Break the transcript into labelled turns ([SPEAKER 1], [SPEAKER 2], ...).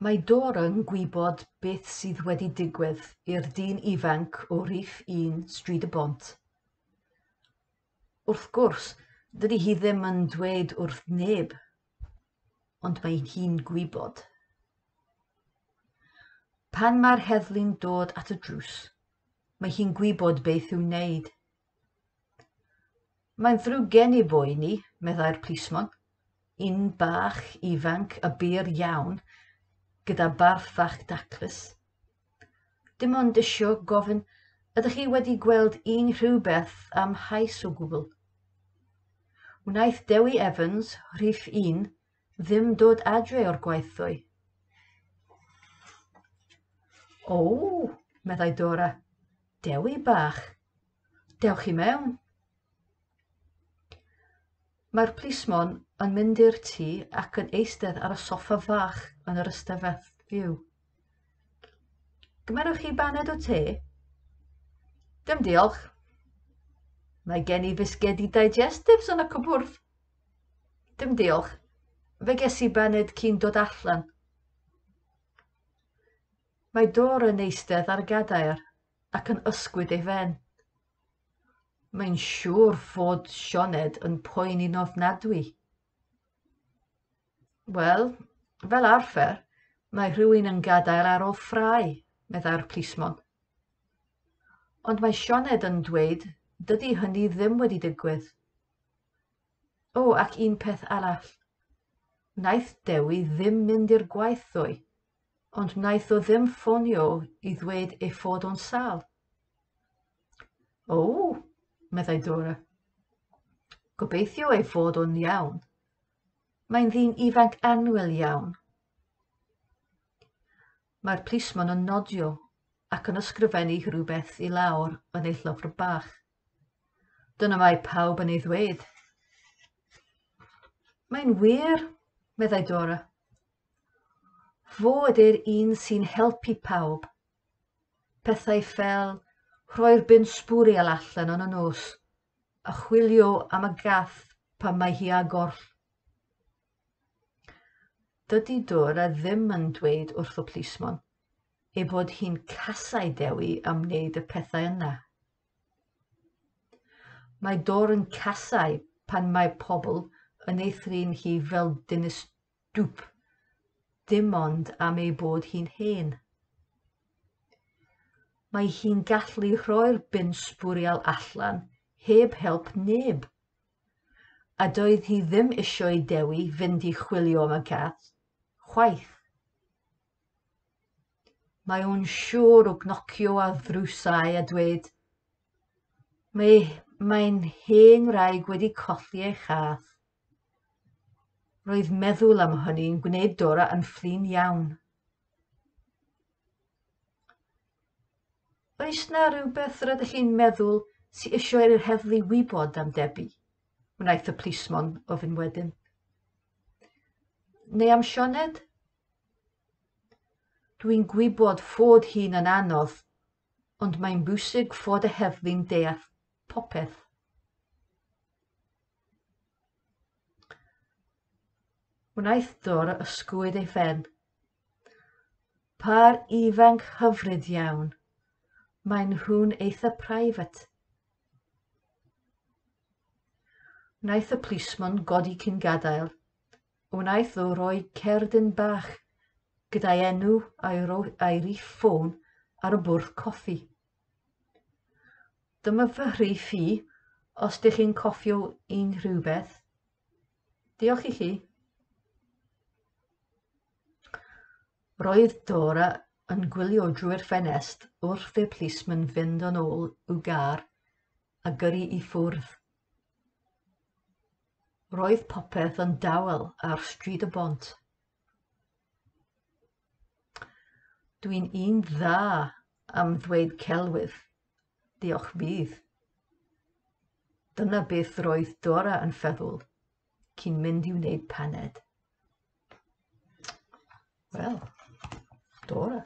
[SPEAKER 1] Mae Dora yn gwybod beth sydd wedi digwydd i'r dyn ifanc o rhif 1 Stryd y Bont. Wrth gwrs, dydy hi ddim yn dweud wrth neb, ond mae hi'n gwybod. Pan mae'r heddlu'n dod at y drws, mae hi'n gwybod beth i'w wneud. Mae'n ddrwg gen i boeni, meddai'r plismon, un bach ifanc a byr iawn, gyda barf fach daclus. Dim ond isio gofyn, ydych chi wedi gweld unrhyw beth am hais o gwbl? Wnaeth Dewi Evans, rhif un, ddim dod adre o'r gwaith ddoe. O, meddai Dora, Dewi bach, Dewch i mewn. Mae'r plismon yn mynd i'r tŷ ac yn eistedd ar y soffa fach yn yr ystafell fyw. Gymerwch chi baned o te? Dim diolch. Mae gen i fisgedi digestives yn y cwpwrdd. Dim diolch. Fe ges i baned cyn dod allan. Mae Dora yn eistedd ar y gadair ac yn ysgwyd ei phen. Mae'n siŵr fod Sioned yn poeni'n ofnadwy. Wel, fel arfer, mae rhywun yn gadael ar ôl ffrae, meddai'r plismon. Ond mae Sioned yn dweud dydy hynny ddim wedi digwydd. O, ac un peth arall. Wnaeth Dewi ddim mynd i'r gwaith ddoe. Ond wnaeth o ddim ffonio i ddweud ei fod o'n sâl. O, meddai Dora. Gobeithio ei fod o'n iawn. Mae'n ddyn ifanc annwyl iawn. Mae'r plismon yn nodio ac yn ysgrifennu rhywbeth i lawr yn ei llyfr bach. Dyna mae pawb yn ei ddweud. Mae'n wir, meddai Dora. Fo ydy'r un sy'n helpu pawb. Pethau fel rhoi'r bin sbwriel allan yn y nos a chwilio am y gath pan mae hi â gorll. Dydy Dora ddim yn dweud wrth y plismon ei bod hi'n casau Dewi am wneud y pethau yna. Mae Dora yn casau pan mae pobl yn ei thrin hi fel dynes dwp, dim ond am ei bod hi'n hen. Mae hi'n gallu rhoi'r bin sbwriel allan heb help neb. A doedd hi ddim isio i Dewi fynd i chwilio am y gath, chwaith. Mae o'n siŵr o gnocio ar ddrysau a dweud, Mae, mae'n hen wraig wedi colli ei chath. Roedd meddwl am hynny'n gwneud Dora yn flin iawn. Oes na rhywbeth rydych chi'n meddwl sy eisiau i'r heddlu wybod am Debbie? wnaeth y plismon ofyn wedyn. Neu am Sioned? Dwi'n gwybod fod hi'n yn anodd, ond mae'n bwysig fod y heddlu'n deall popeth. Wnaeth Dora ysgwyd ei phen. Pâr ifanc hyfryd iawn. Maen nhw'n eitha private. Wnaeth y plismon godi cyn gadael. Wnaeth o roi cerdyn bach gyda'i enw a'i, a'i rif ffôn ar y bwrdd coffi. Dyma fy rhif i, os dych chi'n cofio unrhywbeth. Diolch i chi. Roedd Dora yn gwylio drwy'r ffenest wrth i'r plismon fynd yn ôl i'w gar a gyrru i ffwrdd. Roedd popeth yn dawel ar Stryd y Bont. Dwi'n un dda am ddweud celwydd, diolch fydd. Dyna beth roedd Dora yn feddwl cyn mynd i wneud paned. Wel, Dora.